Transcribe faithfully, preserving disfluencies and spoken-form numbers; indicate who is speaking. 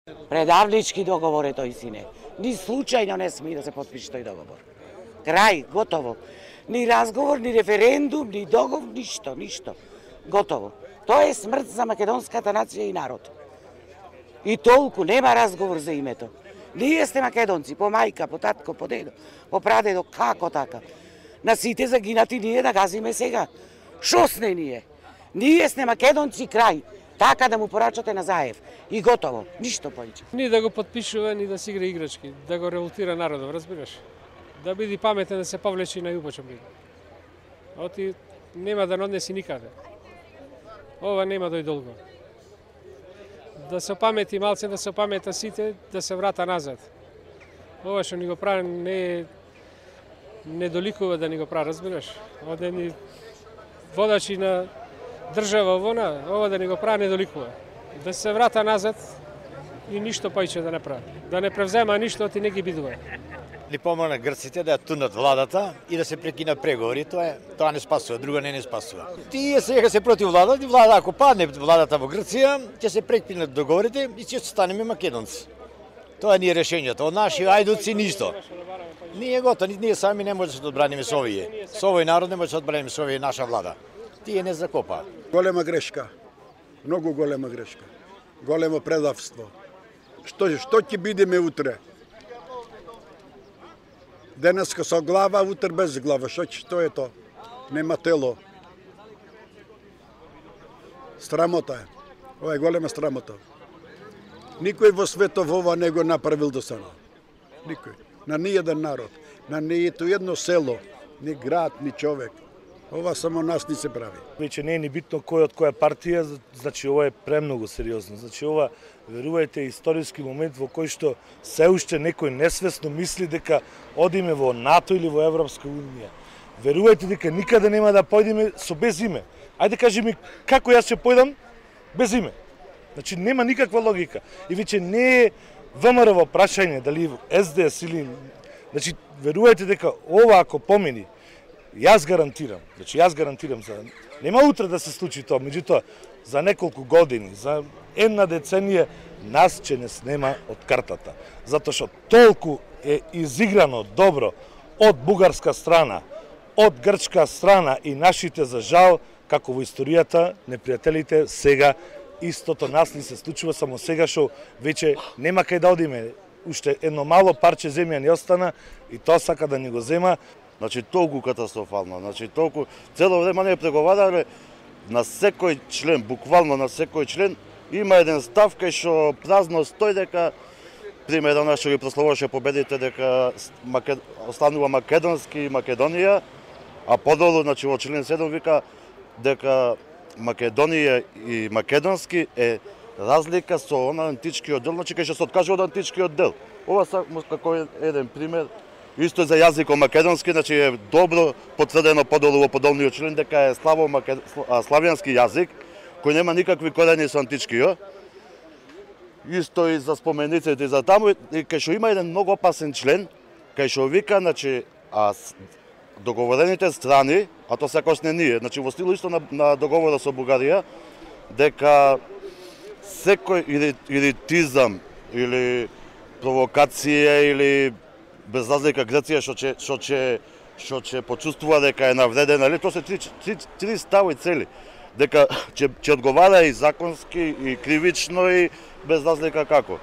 Speaker 1: Предавнички договор е тој, сине. Ни случајно не сме да се подпише тој договор. Крај, готово. Ни разговор, ни референдум, ни договор, ништо, ништо. Готово. Тоа е смрт за македонската нација и народ. И толку, нема разговор за името. Ние сте македонци, по мајка, по татко, по дедо, по прадедо, како така? На сите загинати ние да газиме сега. Шо сне ние? Ние сте македонци, крај. Така да му порачате на Заев. И готово. Ништо повеќе.
Speaker 2: Ни да го подпишува, ни да си игра играчки. Да го револтира народот, разбираш? Да биде паметен, да се повлече на јубоча биде. Оти нема да не однеси никаде. Ова нема дој долго. Да се памети малце, да се памета сите, да се врата назад. Ова што ни го прави не не доликува да ни го прави, разбираш? Оде ни водачи на држава вона, ова да ни го прави не доликува. Да се врата назад и ништо поиќе да не прави. Да не превзема ништо, ти не ги бидува.
Speaker 3: Ли помогна грците да ја тунат владата и да се прекина преговори, тоа е, тоа не спасува, друго не не спасува. Тие сега се против владата, и влада ако падне владата во Грција, ќе се прекинат договорите и ќе станеме македонци. Тоа ни е решењето. Од наши ајдуци ништо. Ние готово, ние сами не можеме да одбраниме со овие. Со овој народ не можеме да одбраниме со овие наша влада. Тие не закопа.
Speaker 4: Голема грешка. Многу голема грешка. Големо предавство. Што што ќе бидеме утре? Денеска со глава, утре без глава. Што што е тоа? Нема тело. Срамота е. Ова е голема срамота. Никој во светот ова не го направил до сега. Никој. На ниеден народ, на нието едно село, ни град, ни човек. Ова само нас ни се прави.
Speaker 5: Веќе не е ни битно кој од која партија, значи ова е премногу сериозно. Значи ова, верувајте, е историски момент во кој што се уште некој несвесно мисли дека одиме во НАТО или во Европска унија. Верувајте дека никаде нема да појдеме со без име. Ајде кажи ми како јас ќе појдам без име. Значи нема никаква логика. И веќе не е ВМРО во прашање дали Ес Де Ес или, значи верувајте дека ова ако помени, јас гарантирам, значи јас гарантирам за нема утре да се случи тоа, меѓутоа за неколку години, за една деценија нас ќе не снема од картата, затоа што толку е изиграно добро од бугарска страна, од грчка страна и нашите за жал, како во историјата непријателите сега истото нас ни се случува, само сега што веќе нема кај да одиме, уште едно мало парче земја ни остана и тоа сака да ни го зема.
Speaker 6: Значи толку катастрофално, значи толку цело време не преговарале на секој член, буквално на секој член има еден став кај што празно стои дека пример она што ги прославуваше победите дека Макед... останува македонски и Македонија, а подолу значи во член седум вика дека Македонија и македонски е разлика со она античкиот дел, значи кај што се откажува од античкиот дел. Ова само како еден пример. Исто за јазикот македонски, значи е добро потврдено подолу во подолниот член дека е славо макед... славјански јазик, кој нема никакви корени со античкиот. Исто и за спомениците и за таму, и кај што има еден многу опасен член, кај што вика, значи, а договорените страни, а тоа секој не ние, значи во стилу исто на, на договорот со Бугарија, дека секој иритизам или провокација или без разлика Грција што ќе што ќе што ќе почувствува дека е навредена, или тоа се три, три, три стави цели, дека ќе ќе одговара и законски и кривично и без разлика како.